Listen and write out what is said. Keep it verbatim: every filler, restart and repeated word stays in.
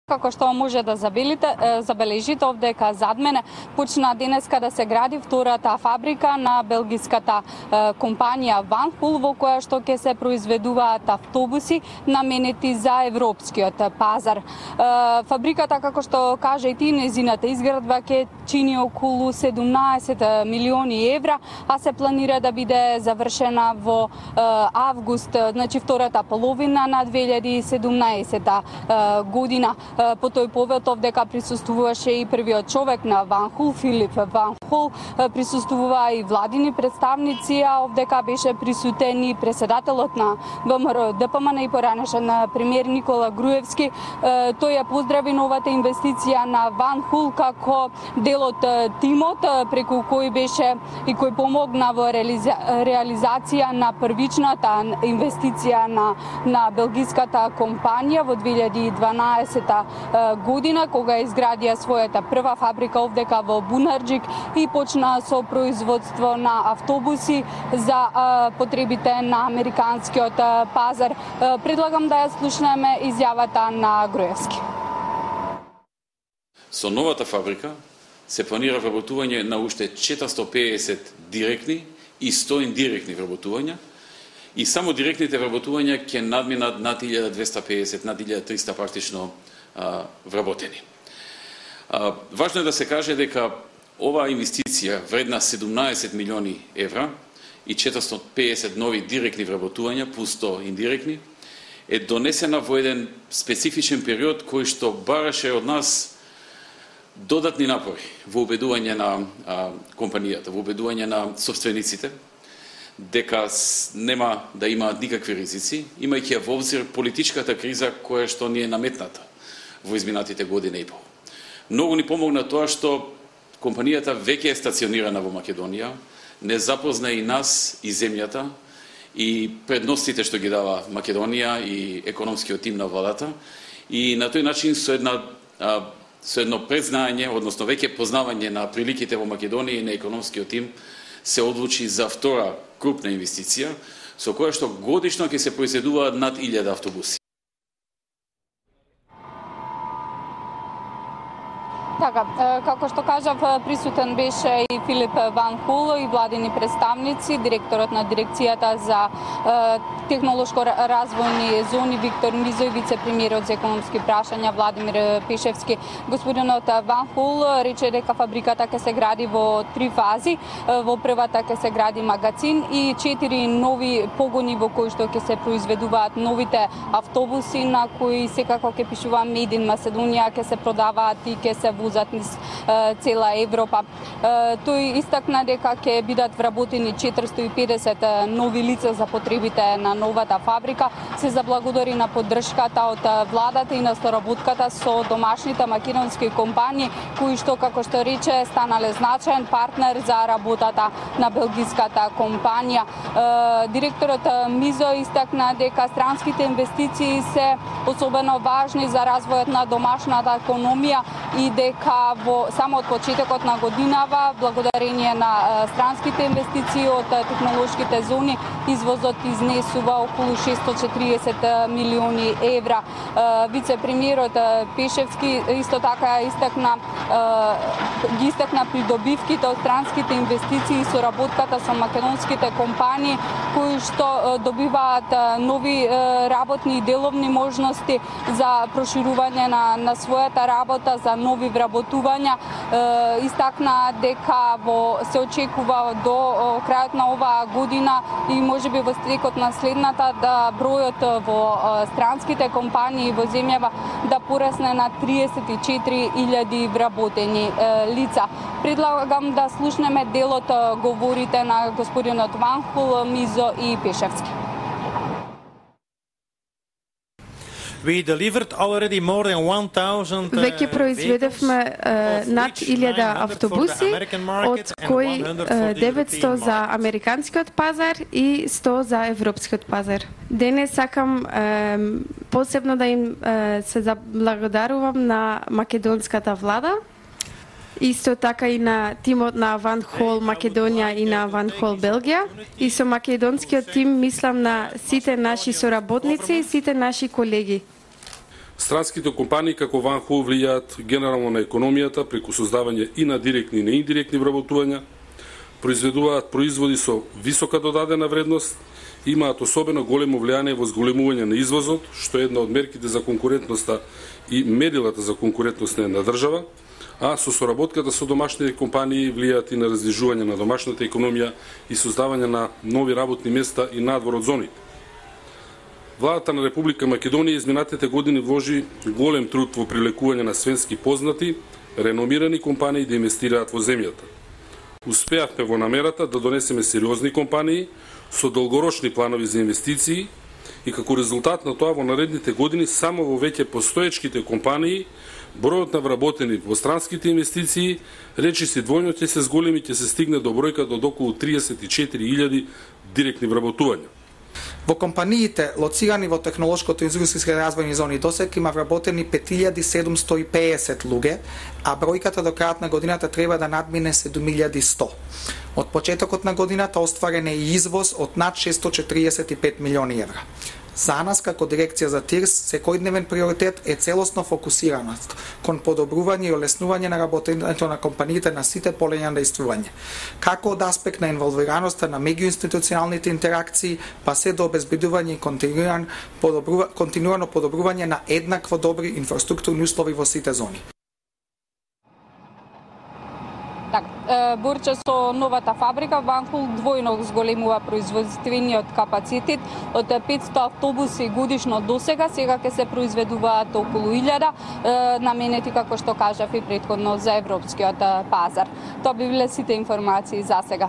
Како што може да забележите овдека зад мене, почна денеска да се гради втората фабрика на белгиската компанија Ванхул, во која што ќе се произведуваат автобуси наменети за европскиот пазар. Фабриката, како што кажа и ти, незината изградба ќе чини околу седумнаесет милиони евра, а се планира да биде завршена во август, значи втората половина на две илјади и седумнаесета година. По тој повод овдека присуствуваше и првиот човек на Ванхул, Филип Ванхул, присуствува и владини представници, а овдека беше присутен и председателот на ВМРО Д П М Н и поранешен премиер Никола Груевски. Тој ја поздрави новата инвестиција на Ванхул како дел од тимот преку кој беше и кој помогна во реализа... реализација на првичната инвестиција на на белгиската компанија во две илјади и дванаесета година, кога изградија својата прва фабрика овдека во Бунарџик и почна со производство на автобуси за а, потребите на американскиот пазар. Предлагам да ја слушнеме изјавата на Груевски. Со новата фабрика се планира вработување на уште четиристотини и педесет директни и сто индиректни вработувања, и само директните вработувања ќе надминат над илјада двесте и педесет, над илјада триста практично а, вработени. А, важно е да се каже дека оваа инвестиција вредна седумнаесет милиони евра и четиристотини и педесет нови директни вработувања плюс сто индиректни е донесена во еден специфичен период кој што бараше од нас додатни напори во убедување на а, компанијата, во убедување на собствениците дека нема да имаат никакви ризици, имајќи во обзир политичката криза која што ни е наметната во изминатите година и пол. Многу ни помогна тоа што компанијата веќе е стационирана во Македонија, не запозна и нас и земјата и предностите што ги дава Македонија и економскиот тим на владата, и на тој начин со една а, со едно презнање, односно веќе познавање на приликите во Македонија и на економскиот тим, се одлучи за втора крупна инвестиција, со која што годишно ќе се произведуваат над илјада автобуси. Така, како што кажав, присутен беше и Филип Ванхул и владини представници, директорот на дирекцијата за технолошко развојни зони Виктор Мизо и вице-премиерот за економски прашања Владимир Пешевски. Господинот Ванхул рече дека фабриката ќе се гради во три фази. Во првата ќе се гради магазин и четири нови погони во кои што ќе се произведуваат новите автобуси на кои секако ќе пишува Made in Macedоnia, ќе се продаваат и ќе се возат низ цела Европа. Тој истакна дека ќе бидат вработени четиристотини и педесет нови лица за потребите на новата фабрика. Се заблагодари на поддршката од владата и на соработката со домашните македонски компании, кои што, како што рече, станале значаен партнер за работата на белгиската компанија. Директорот Мизо истакна дека странските инвестиции се особено важни за развојот на домашната економија и дека во само од почетокот на годинава, благодарение на странските инвестиции од технолошките зони, извозот изнесува околу шестстотини и четириесет милиони евра. Вице-премиерот Пешевски исто така истакна ги истакна придобивките од странските инвестиции и соработката со македонските компании кои што добиваат нови работни и деловни можности за проширување на, на својата работа, за нови вработувања. Истакна дека во се очекува до крајот на оваа година и можеби во стекот на следната да бројот во странските компании во земјава да порасне на триесет и четири илјади вработени лица. Предлагам да слушнеме дел од говорите на господинот Ванхул, Мизо и Пешевски. Веќе произведевме над илјада автобуси, од кои деветсто за американскиот пазар и сто за европскиот пазар. Денес сакам посебно да им се заблагодарувам на македонската влада, исто така и на тимот на Ванхол Македонија и на Ванхол Белгија. И со македонскиот тим мислам на сите наши соработници и сите наши колеги. Странските компании како Ванхул влијаат генерално на економијата преку создавање и на директни и на индиректни вработувања, произведуваат производи со висока додадена вредност, имаат особено големо влијание во зголемување на извозот, што е една од мерките за конкурентноста и мерилата за конкурентност на една држава, а со соработката со домашните компании влијаат и на раздвижување на домашната економија и создавање на нови работни места и надвор од зоните. Владата на Република Македонија изминатите години вложи голем труд во привлекување на свенски познати, реномирани компании да инвестираат во земјата. Успеавме во намерата да донесеме сериозни компании со долгорочни планови за инвестиции и како резултат на тоа во наредните години само во веќе постоечките компании бројот на вработени во странските инвестиции речиси двојно ќе се зголеми, ќе се стигне до бројка од околу триесет и четири илјади директни вработувања. Во компаниите лоцирани во технолошкото и индустријски развојни зони досега има вработени пет илјади седумсто и педесет луѓе, а бројката до крајот на годината треба да надмине седум илјади и сто. Од почетокот на годината остварен е и извоз од над шестстотини и четиридесет и пет милиони евра. За нас, како дирекција за ТИРС, секојдневен приоритет е целосно фокусираност кон подобрување и олеснување на работењето на компаниите на сите полења на действување, како од аспект на инволвираноста на меѓуинституционалните интеракции, па се до обезбедување и континуиран подобрува, континуирано подобрување на еднакво добри инфраструктурни услови во сите зони. Така, Борче со новата фабрика Ванхул двојно зголемува производствениот капацитет од петсто автобуси годишно досега, сега ќе се произведуваат околу илјада, наменети како што кажав и претходно за европскиот пазар. Тоа би биле сите информации за сега.